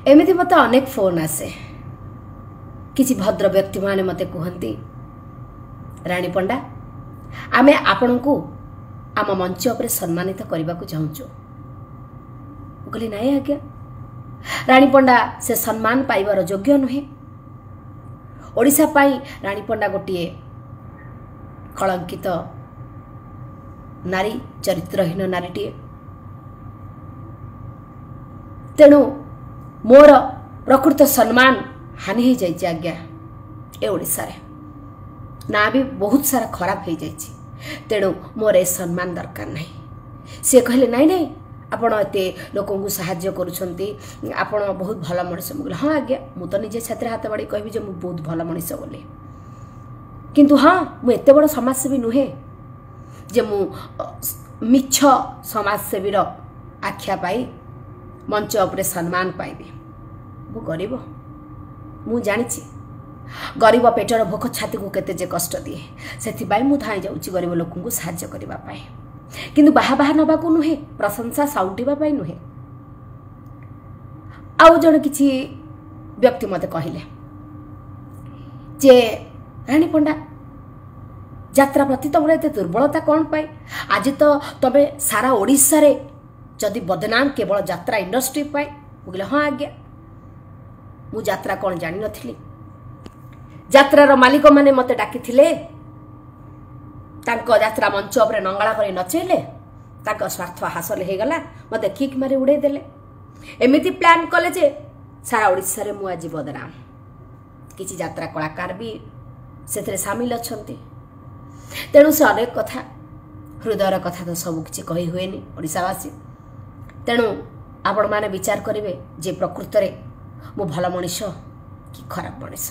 ଏମିତି ମୋତେ ଅନେକ ଫୋନ୍ ଆସେ। କିଛି ଭଦ୍ର ବ୍ୟକ୍ତିମାନେ ମୋତେ କୁହନ୍ତି, ରାଣୀ ପଣ୍ଡା, ଆମେ ଆପଣଙ୍କୁ ଆମ ମଞ୍ଚ ଉପରେ ସମ୍ମାନିତ କରିବାକୁ ଚାହୁଁଛୁ। ମୁଁ କହିଲି, ନାଇଁ ଆଜ୍ଞା, ରାଣୀ ପଣ୍ଡା ସେ ସମ୍ମାନ ପାଇବାର ଯୋଗ୍ୟ ନୁହେଁ। ଓଡ଼ିଶା ପାଇଁ ରାଣୀ ପଣ୍ଡା ଗୋଟିଏ କଳଙ୍କିତ ନାରୀ, ଚରିତ୍ରହୀନ ନାରୀଟିଏ। ତେଣୁ ମୋର ପ୍ରକୃତ ସମ୍ମାନ ହାନି ହେଇଯାଇଛି ଆଜ୍ଞା ଏ ଓଡ଼ିଶାରେ, ନାଁ ବି ବହୁତ ସାରା ଖରାପ ହେଇଯାଇଛି। ତେଣୁ ମୋର ଏ ସମ୍ମାନ ଦରକାର ନାହିଁ। ସିଏ କହିଲେ, ନାଇଁ ନାଇଁ, ଆପଣ ଏତେ ଲୋକଙ୍କୁ ସାହାଯ୍ୟ କରୁଛନ୍ତି, ଆପଣ ବହୁତ ଭଲ ମଣିଷ। ମୁଁ କହିଲି, ହଁ ଆଜ୍ଞା, ମୁଁ ତ ନିଜେ ଛାତିରେ ହାତ ବାଡ଼ି କହିବି ଯେ ମୁଁ ବହୁତ ଭଲ ମଣିଷ ବୋଲି। କିନ୍ତୁ ହଁ, ମୁଁ ଏତେ ବଡ଼ ସମାଜସେବୀ ନୁହେଁ ଯେ ମୁଁ ମିଛ ସମାଜସେବୀର ଆଖ୍ୟା ପାଇ ମଞ୍ଚ ଉପରେ ସମ୍ମାନ ପାଇବି। ମୁଁ ଗରିବ, ମୁଁ ଜାଣିଛି ଗରିବ ପେଟର ଭୋକ ଛାତିକୁ କେତେ ଯେ କଷ୍ଟ ଦିଏ। ସେଥିପାଇଁ ମୁଁ ଧାଇଁ ଯାଉଛି ଗରିବ ଲୋକଙ୍କୁ ସାହାଯ୍ୟ କରିବା ପାଇଁ, କିନ୍ତୁ ବାହା ବାହା ନେବାକୁ ନୁହେଁ, ପ୍ରଶଂସା ସାଉଁଟିବା ପାଇଁ ନୁହେଁ। ଆଉ ଜଣେ କିଛି ବ୍ୟକ୍ତି ମୋତେ କହିଲେ ଯେ ରାଣୀ ପଣ୍ଡା, ଯାତ୍ରା ପ୍ରତି ତମର ଏତେ ଦୁର୍ବଳତା କ'ଣ ପାଇଁ? ଆଜି ତ ତମେ ସାରା ଓଡ଼ିଶାରେ ଯଦି ବଦନାମ କେବଳ ଯାତ୍ରା ଇଣ୍ଡଷ୍ଟ୍ରି ପାଇଁ। ମୁଁ କହିଲି, ହଁ ଆଜ୍ଞା, ମୁଁ ଯାତ୍ରା କ'ଣ ଜାଣିନଥିଲି। ଯାତ୍ରାର ମାଲିକମାନେ ମୋତେ ଡାକିଥିଲେ, ତାଙ୍କ ଯାତ୍ରା ମଞ୍ଚ ଉପରେ ନଙ୍ଗଳା କରି ନଚେଇଲେ, ତାଙ୍କ ସ୍ୱାର୍ଥ ହାସଲ ହେଇଗଲା, ମୋତେ କିକ୍ ମାରି ଉଡ଼େଇ ଦେଲେ। ଏମିତି ପ୍ଲାନ୍ କଲେ ଯେ ସାରା ଓଡ଼ିଶାରେ ମୁଁ ଆଜି ବଦନାମ। କିଛି ଯାତ୍ରା କଳାକାର ବି ସେଥିରେ ସାମିଲ ଅଛନ୍ତି। ତେଣୁ ସେ ଅନେକ କଥା, ହୃଦୟର କଥା ତ ସବୁ କିଛି କହି ହୁଏନି ଓଡ଼ିଶାବାସୀ। ତେଣୁ ଆପଣମାନେ ବିଚାର କରିବେ ଯେ ପ୍ରକୃତରେ ମୁଁ ଭଲ ମଣିଷ କି ଖରାପ ମଣିଷ।